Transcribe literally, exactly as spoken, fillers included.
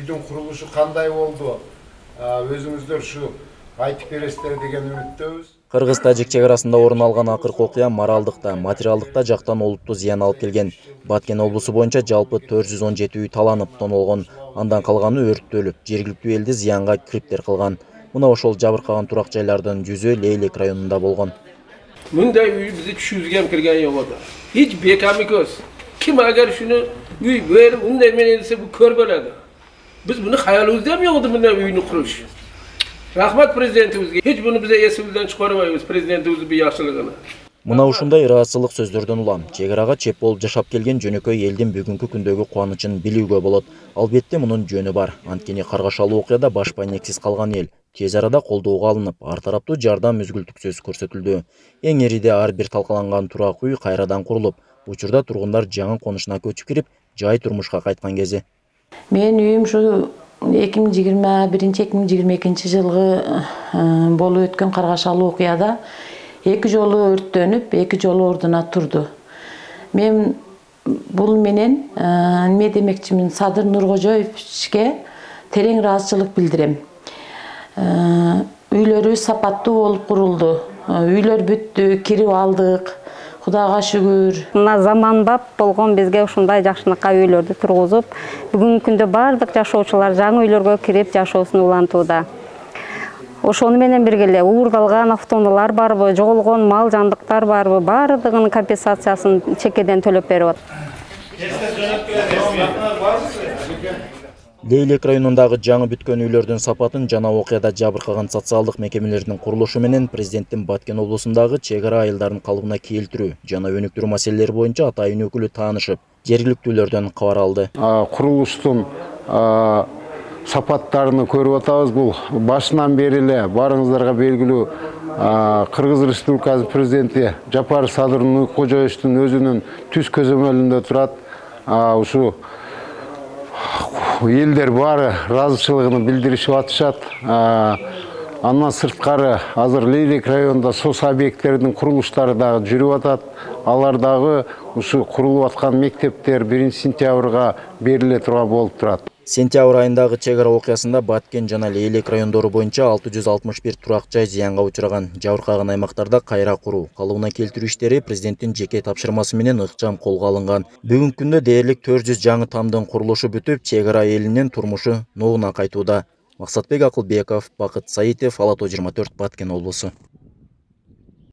үйдүн курулушу кандай болду? Өзүңүздөр ушу айтып бересиздер деген үмүттөбүз. Кыргыз-тажик чек арасында орун алган акыркы окуя моралдык да, материалдык да жактан олуттуу зыян алып келген. Баткен облусу боюнча жалпы төрт жүз он жети үй таланып, тонолгон. Андан калганы өрттөлүп, жергиликтүү элди зыянга кириптер кылган. Мына ошол жабыркаган турак жайлардын жүзү Лейлек районунда болгон. Мындай үй биздин түшүбүзгө ham кирген жок да. Эч бекам экөөбүз. Ким агар шуну үй берип мындай менен десе бу көрбөлөдү. Биз буну хаялыбызда ham жок мындай үйнү куруш. Рахмат президентибизге. Эч буну бизе эсибизден чыгарбайбыз, президентибиздин бу жакшылыгына. Мына ушундай ыраазычылык сөздөрдөн улам чек арага чеп болуп жашап келген жөнөкөй элдин бүгүнкү күндөгү кубанычын билүүгө болот. Албетте мунун жөнү бар. Анткени каргашалуу окуяда баш байнексиз калган эл тез арада колдоого алынып, ар тараптуу жардам мүзгүлтүксүз көрсөтүлдү. Эң эриде ар бир талкаланган турак үй кайрадан курулуп, учурда тургундар жаңы конушуна көчүп кирип, жай турмушка кайткан кези. Менин үйүм ушу эки миң жыйырма биринчи эки миң жыйырма экинчи жылгы болуп өткөн каргашалуу окуяда эки жолу өрттөнүп, эки жолу ордуна турду. Мен бул менен эме демекчимин, Садыр Нуркожоевичке терең ыраазычылык билдирем. Үйлөрү сапаттуу болуп курулду. Үйлөр бүттү, кирип алдык. Кудайга шүгүр. Мына заманбап болгон бизге ушундай жакшынакка үйлөрдү тургузуп, бүгүнкү күндө бардык жашоочулар жаңы үйлөргө кирип жашоосун улантууда. Ошону менен бирге эле уурдалган автоунаалар барбы, жоголгон мал жандыктар барбы, бардыгынын компенсациясын чекеден төлөп берип атат. Лейлек районундагы жаңы бүткөн үйлөрдүн сапатын жана окуяда жабыркаган социалдык мекемелердин курулушу менен президенттин Баткен облусундагы чек ара айылдарын калыбына келтирүү жана өнүктүрүү маселелери боюнча атайын өкүлү таанышып, жергиликтүүлөрдөн кабар алды. Курулуштун сапаттарын көрүп атабыз. Бул башынан бери эле барыңыздарга белгилүү Кыргыз Республикасы президенти Жапар Садыр Нуркожоевичтин өзүнүн түз көзөмөлүндө турат. Ушу элдер баары ыраазычылыгын билдиришип атышат. Андан сырткары азыр Лейлек районунда соц объекттердин курулуштары дагы жүрүп атат. Алар дагы ушу курулуп аткан мектептер биринчи сентябрга бериле турган болуп турат. Сентябрь айындагы чек ара окуясында Баткен жана Лейлек райондору боюнча алты жүз алтымыш бир турак жай зыянга учураган. Жабыркаган аймактарда кайра куруу, калыбына келтирүү иштери президенттин жеке тапшырмасы менен ыкчам колго алынган. Бүгүнкү күндө дээрлик төрт жүз жаңы тамдын курулушу бүтүп, чек ара элинин турмушу ногуна кайтууда. Максатбек Акылбеков, Бакыт Саитов, Ала тоо жыйырма төрт, Баткен облусу.